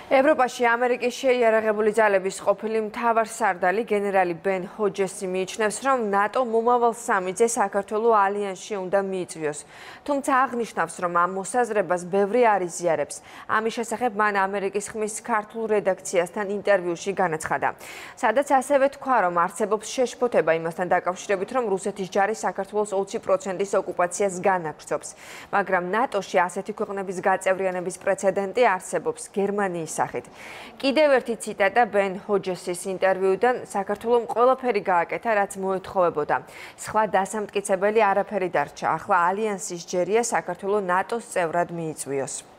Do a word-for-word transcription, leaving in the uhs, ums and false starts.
ევროპაში ამერიკის შეიარაღებული ძალების ყოფილი მთავარსარდალი გენერალი ბენ ჰოჯესი მიიჩნევს, რომ ნატო მომავალ სამი-ძე საქართველოს ალიანსში უნდა მიიწვიოს. თუმცა აღნიშნავს, რომ ამ მოსაზრებას ბევრი არ იზიარებს. ამის შესახებ მან ამერიკის ხმის ქართულ რედაქციასთან ინტერვიუში განაცხადა. სადაც ასევე თქვა, რომ არსებობს შეშფოთება იმასთან დაკავშირებით, რომ რუსეთის ჯარი საქართველოს ოცი პროცენტის ოკუპაციას განაგრძობს. მაგრამ ნატოში ასეთი ქვეყნების გაწევრიანების პრეცედენტი არსებობს გერმანიის სახით. კიდევ ერთი ციტატა ბენ ჰოჯესის ინტერვიუდან, საქართველომ ყველაფერი გააკეთა, რაც მოეთხოვებოდა. სხვა დასამტკიცებელი არაფერი დარჩა. ახლა ალიანსის ჯერია საქართველო ნატოს წევრად მიიწვიოს.